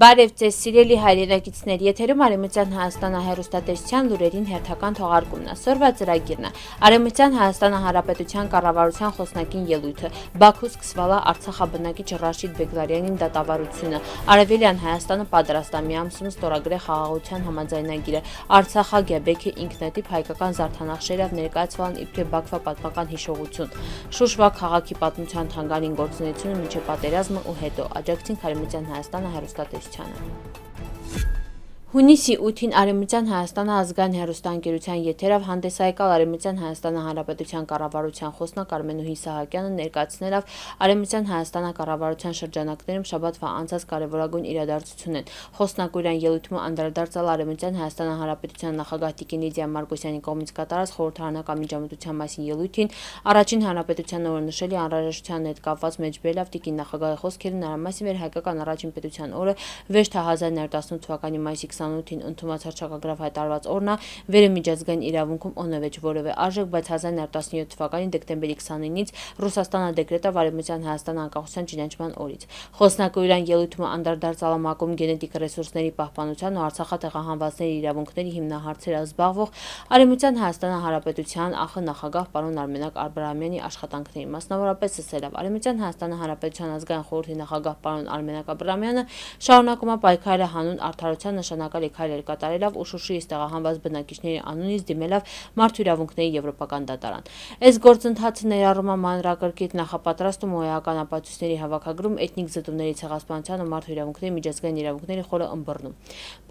Բարև ձեզ սիրելի հայրենակիցներ, եթերում Արևմտյան Հայաստանը հեռուստատեսության լուրերին հերթական թողարկումն է։ Սորվա ծրագիրն է Արևմտյան Հայաստանը Հանրապետության կառավարության խոսնակին ելույթը, Բաքու սկսվալա Արցախաբնակիչ Ռաշիդ Բեգլարյանին դատավարությունը, Արևելյան Հայաստանը պատրաստ է միամսուն ստորագրել խաղաղության համաձայնագիրը, Արցախագեբեքի ինքնատիպ հայկական զարդանախշերով ներկայացվան իբրև Բաքվա պատմական հիշողություն, Շուշվա քաղաքի պատմության թանգարանի գործունեությունը մինչև պատերազմը ու հետո, աջակցին Արևմտյան Հայաստանը հեռուստատեսությանը։ Հունիսի 8-ին Արևմտյան Հայաստանը ազգային հեռուստաընկերության եթերով հանդես եկալ Արևմտյան Հայաստանը Հանրապետության կառավարության խոսնակ Արմենուհի Սահակյանը ներկայացնելով Արևմտյան Հայաստանը կառավարության շրջանակներում շաբաթվա անցած կարևորագույն իրադարձությունն են։ Խոսնակուրյան ելույթում անդրադարձալ Արևմտյան Հայաստանը Հանրապետության նախագահ Տիկին Լիդիա Մարկոսյանի կողմից կատարած խորհրդարանական միջամտության մասին ելույթին առաջին հանրապետության օրը նշելի անհրաժեշտության հետ կապված մեջբերելով Տիկին նախագահի խոսքերը նրա մասին էր հայկական առաջին պետության օրը վեճ 1918 թվականի մայիսի 28-ին ընդունված հռչակագրով հայտարարված օրն է վերը միջազգային իրավունքում օնևեջ որևէ արժեք, բայց 1917 թվականի դեկտեմբերի 29-ից Ռուսաստանը դեկրետով Արևմտյան Հայաստան անկախության ճանաչման օրից։ Խոսնակորյան ելույթում անդրադարձալ ՄԱԿ-ում գենետիկ ռեսուրսների պահպանության ու Արցախատեղահանվածների իրավունքների հիմնահարցերով զբաղվող Արևմտյան Հայաստան Հանրապետության ԱԽ նախագահ պարոն Արմենակ Աբրահամյանի աշխատանքների, մասնավորապես ասելով Արևմտյան Հայաստան Հանրապետության ազգային խորհրդի նախագահ պարոն Արմենակ Աբրահամյանը շարունակում է պայքարը հանուն արդարության նշանակալի քայլեր կատարելով ու Շուշիից տեղահանված բնակիչների անունից դիմելով Մարդու իրավունքների եվրոպական դատարան։ Այս գործընթացը ներառում է մանրակրկիտ նախապատրաստում ու էական ապացույցների հավաքագրում, էթնիկ զտումների ցեղասպանության ու մարդու իրավունքների միջազգային իրավունքների խորը ըմբռնում։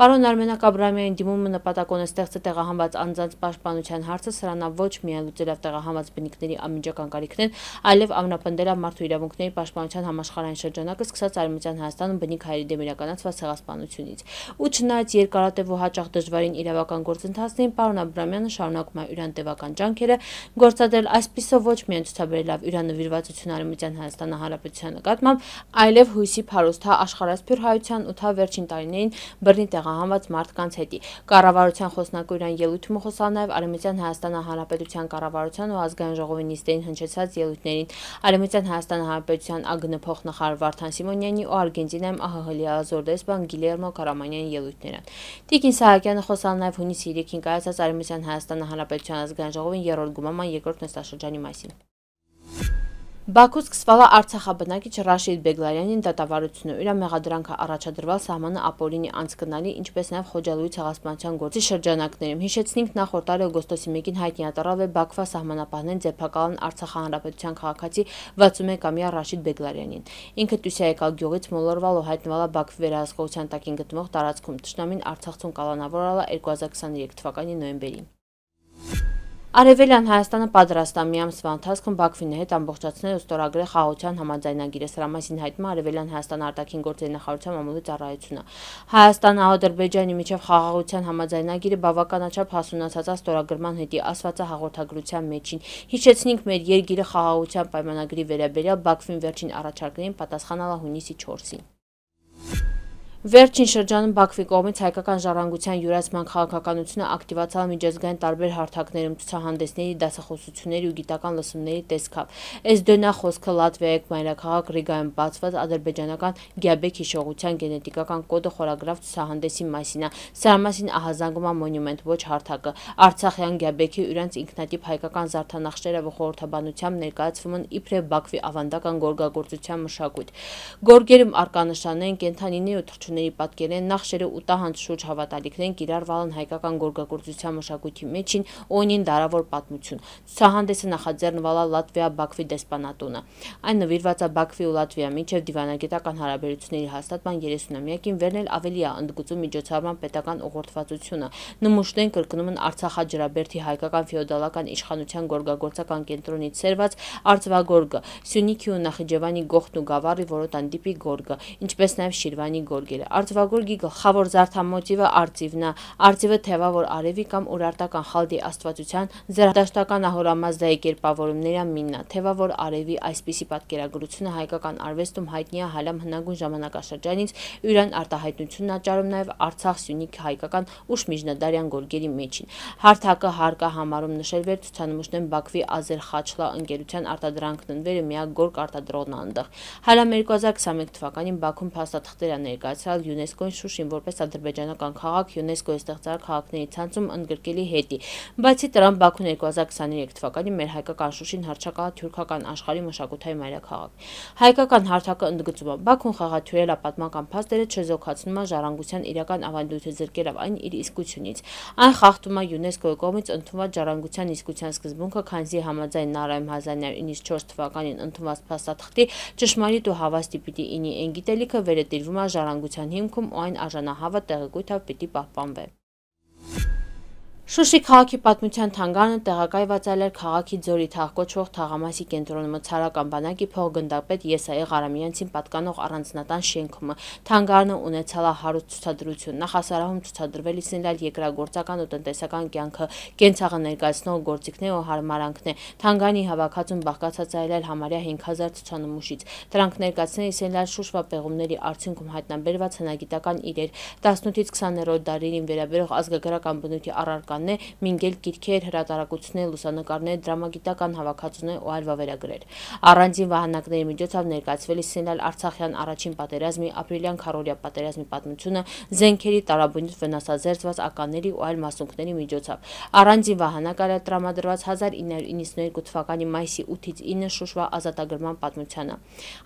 Պարոն Արմենակ Աբրահամյանի դիմումը նպատակ ունի ստեղծել տեղահանված անձանց պաշտպանության հարցը, սրանա ոչ միայն լուծելով տեղահանված բնիկների անմիջական կարիքներն, այլև ամրապնդելով մարդու իրավունքների պաշտպանության համաշխարհային շրջանակը սկսած Արևմտյան Հայաստանում բնիկ հայերի դեմ իրականացված ցեղասպանությունից։ Ու չնայած երկարատև ու հաճախ դժվարին իրավական գործընթացներին, պարոն Աբրահամյանը շարունակում է յուրան տևական ջանքերը գործադրել այսպիսով ոչ միայն ցուցաբերելով յուրանվիրվածություն Արևմտյան Հայաստանի Հանրապետության նկատմամբ, այլև հույսի փարուստ աշխարհասփյուր հայության 8 վերջին տարիներին բռնի տեղահանված մարդկանց հետի։ Կառավարության խոսնակորյան ելույթում խոսալ նաև Արևմտյան Հայաստանի Հանրապետության կառավարության ու ազգային ժողովի նիստերին հնչեցած ելույթներին, Արևմտյան Հայաստանի Հանրապետության ԱԳՆ փոխնախարար Վարդան Սիմոնյանի ու Արգենտինայում ԱՀՀ լիազոր դեսպան Գիլերմո Կարամանյանի ելույթներն։ Տիկին Սահակյանը խոսալ նաև հունիսի 3-ին կայացած Արևմտյան Հայաստանի Հանրապետության ազգային ժողովին երրորդ գումարման երկրորդ նստաշրջանի մասին։ Բաքու սկսվալա Արցախաբնակիչ Ռաշիդ Բեգլարյանին դատավարությունը իր մեղադրանքը առաջադրվել սահմանը ապօրինի անցկնալի, ինչպես նաև Խոջալույի ցեղասպանության գործի շրջանակներում։ Հիշեցնենք, նախորդ տարի օգոստոսի 1-ին հայտնի ատարավ է Բաքվա սահմանապահներն ձերբակալան Արցախի հանրապետության քաղաքացի 61-ամյա Ռաշիդ Բեգլարյանին։ Ինքը Տուսիայի գյուղից մոլորվել ու հայտնվել է Բաքվի վերահսկողության տակ գտնվող տարածքում։ Թշնամին Արցախցուն կալանավորել է 2023 թվականի նոյեմբերին։ Արևելյան Հայաստանը պատրաստ է միամսվա ընթացքում Բաքվի հետ ամբողջացնել ու ստորագրել խաղաղության համաձայնագիրը, սրա մասին հայտնում է Արևելյան Հայաստան արտաքին գործերի նախարարության մամուլի ծառայությունը։ Հայաստանը Ադրբեջանի միջև խաղաղության համաձայնագիրը բավականաչափ հասունացած ստորագրման հետի ասված է հաղորդագրության մեջին։ Հիշեցնենք, մեր երկիրը խաղաղության պայմանագրի վերաբերյալ Բաքվին վերջին առաջարկներին պատասխանալ է հունիսի 4-ին։ Վերջին շրջանում Բաքվի կողմից հայկական ժառանգության յուրացման քաղաքականությունը ակտիվացալ միջազգային տարբեր հարթակներում ցուցահանդեսների, դասախոսությունների ու գիտական լսումների տեսքով։ Էսդոնա խոսքը Լատվիայի մայրաքաղաք Ռիգայում բացված ադրբեջանական Գյաբեկ հիշողության գենետիկական կոդը խորագրավ ցուցահանդեսի մասին է։ Սրա մասին ահազանգում է Մոնումենտ ոչ հարթակը։ Արցախյան Գյաբեկի յուրանց ինքնատիպ հայկական զարդանախշերը ու խորհրդաբանությամբ ներկայացվում են իբրև Բաքվի ավանդական գորգագործության մշակույթ։ Գորգերում արկա նշաններ, կենդանիների ու ների պատկերեն նախշերը ու տահանց շուրջ հավատալիքներն կիրառվալն հայկական գորգագործության մշակույթի մեջին ունին դարավոր պատմություն։ Ցուցահանդեսը նախաձեռնվել է Լատվիա-Բաքվի դեսպանատունը։ Այն նվիրված է Բաքվի ու Լատվիա միջև դիվանագիտական հարաբերությունների հաստատման 30-ամյակին, վերն էլ ավելի է ընդգծում միջոցառման պետական ուղղորդվածությունը։ Նմուշներն կրկնում են Արցախաջրաբերդի հայկական ֆեոդալական իշխանության գորգագործական կենտրոնից սերված արծվագորգը, Սյունիքի ու Նախիջևանի գողթն ու գավառի որոտան տիպի գորգը, ինչպես նաև Շիրվանի գորգերը։ Արծվագորգի գլխավոր զարդամոտիվը արծիվն է։ Արծիվը թևավոր արևի կամ ուրարտական խալդի աստվածության զերադաշտական ահորամազդայի կերպավորումների մինն է։ Թևավոր արևի այսպիսի պատկերագրությունը հայկական արվեստում հայտնի է հալամ հնագույն ժամանակաշրջանից, յուրան արտահայտությունն աճարում նաև Արցախ-Սյունիք հայկական ուշ միջնադարյան գորգերի մեջին։ Հարթակը հարկա համարում նշել վեր ցուցանմուշներն Բաքվի Ազերխաչլա ընկերության արտադրանքն ընվերը միակ գորգ արտադրողն է այնտեղ։ Հալամ 2021 թվականին Բաքվում փաստաթղթեր է ներկայացրել բարձրացրել ՅՈՒՆԵՍԿՕ-ին Շուշին որպես ադրբեջանական քաղաք ՅՈՒՆԵՍԿՕ-ի ստեղծարար քաղաքների ցանցում ընդգրկելի հետի։ Բացի դրան, Բաքուն 2023 թվականին մեր հայկական Շուշին հռչակալ թուրքական աշխարհի մշակութային մայրաքաղաք։ Հայկական հարթակը ընդգծում է. Բաքուն խաղաթյուրել է պատմական փաստերը, չեզոքացնում է ժառանգության իրական ավանդույթը զրկելով այն իր իսկությունից։ Այն խախտում է ՅՈՒՆԵՍԿՕ-ի կողմից ընդունված ժառանգության իսկության սկզբունքը, քանզի համաձայն Նարայում 1994 թվականին ընդունված փաստաթղթի ճշմարիտ ու հավաստի պիտի ինի այն գիտելիքը վերը տիրվում է ժառանգության հիմքում ու այն արժանահավատ տեղեկույթով պիտի պահպանվի։ Շուշի քաղաքի պատմության թանգարանը տեղակայված է քաղաքի Ձորի թաղ կոչվող թաղամասի կենտրոնում ցարական բանակի փոխգնդապետ Եսայի Ղարամյանցին պատկանող առանձնատան շենքում։ Թանգարանը ունեցել է հարուստ ցուցադրություն, նախասարահում ցուցադրվել իսնելալ երկրագործական ու տնտեսական կյանքը, կենցաղը ներկայացնող գործիքներ ու հարմարանքներ։ Թանգարանի հավաքածուն բաղկացած է համարյա 5000 ցուցանմուշից։ Դրանք ներկայացնել իսնելալ Շուշվա պեղումների արդյունքում հայտնաբերված հնագիտական իրեր, 18-ից 20-րդ դարերին վերաբերող ազգագրական բնույթի առարկաներ, մինգել գիրքեր, հրատարակություններ, լուսանկարներ, դրամագիտական հավաքածուներ ու այլ վավերագրեր։ Առանձին վահանակների միջոցով ներկայացվել իսնելալ Արցախյան առաջին պատերազմի, ապրիլյան քառօրյա պատերազմի պատմությունը, զենքերի տարաբնույթ վնասազերծված ականների ու այլ մասունքների միջոցով։ Առանձին վահանակ է տրամադրված 1992 թվականի մայիսի 8-ից 9 Շուշվա ազատագրման պատմությանը։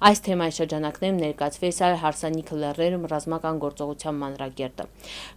Այս թեմայի շրջանակներում ներկայացվել է հարսանիքը լեռներում ռազմական գործողության մանրակերտը։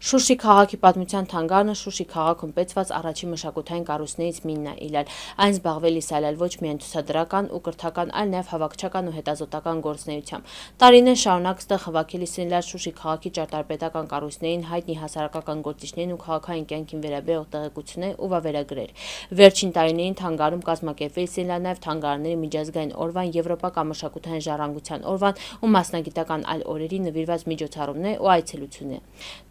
Շուշի քաղաքի պատմության թանգարանը Շուշի քաղաքում պետված առաջին մշակութային կառույցներից մեկն է ելել։ Այն զբաղվել է ոչ միայն ցուցադրական ու կրթական, այլ նաև հավաքչական ու հետազոտական գործունեությամբ։ Տարիներ շարունակ ստեղ հավաքել է Շուշի քաղաքի ճարտարապետական կառույցներին, հայտնի հասարակական գործիչներին ու քաղաքային կյանքին վերաբերող տեղեկություններ ու վավերագրեր։ Վերջին տարիներին թանգարանում կազմակերպվել է նաև թանգարանների միջազգային օրվան, Եվրոպական մշակութային ժառանգության օրվան ու մասնագիտական այլ օրերի նվիրված միջոցառումներ ու այցելություններ։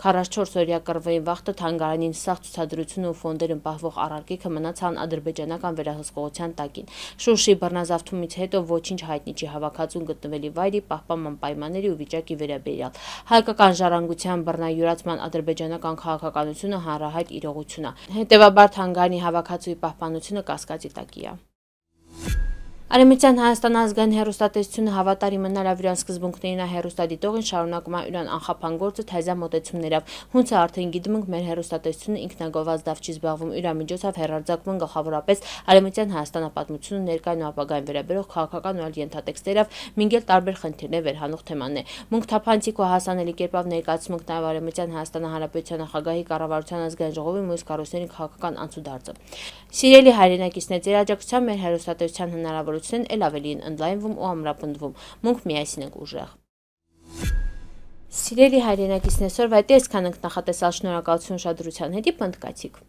44-օրյա կռվերի վաղտը թանգարանին սաղ ցուցադրությունը ու ֆոնդերում պահվող առարկիքը մնացան ադրբեջանական վերահսկողության տակին։ Շուշի բռնազավթումից հետո ոչինչ հայտնի չի հավաքածուն գտնվելի վայրի, պահպանման պայմանների ու վիճակի վերաբերյալ։ Հայկական ժառանգության բռնայուրացման ադրբեջանական քաղաքականությունը հանրահայտ իրողություն է։ Հետևաբար թանգարանի հավաքածուի պահպանությունը կասկածի տակ է։ Արևմտյան Հայաստան ազգային հեռուստատեսությունը հավատարիմ մնալ ավիրան սկզբունքներին է հեռուստադիտողին շարունակում է իրան անխափան գործը թայզա մոտեցումներով։ Հունց է արդեն գիտում ենք մեր հեռուստատեսությունը ինքնագովված դավ չի զբաղվում իր միջոցով հեռարձակվում գլխավորապես Արևմտյան Հայաստանը պատմությունը ներկայուն ու ապագային վերաբերող քաղաքական ու այլ ենթատեքստերով մինգել տարբեր խնդիրներ վերհանող թեմաներ։ Մունք թափանցիկ ու հասանելի կերպով ներկայացնում ենք նաև Արևմտյան Հայաստանի Հանրապետության նախագահի կառավարության ազգային ժողովի մյուս կառույցների քաղաքական անցուդարձը։ Սիրելի հայրենակիցներ, ձեր աջակցությամբ մեր հեռուստատեսության հնարավորություններն էլ ավելի են ընդլայնվում ու ամրապնդվում։ Մունք միասին ենք ուժեղ։ Սիրելի հայրենակիցներ, այսօրվա հետ այսքան ենք նախատեսալ, շնորհակալություն ուշադրության հետ, պնդկացիք։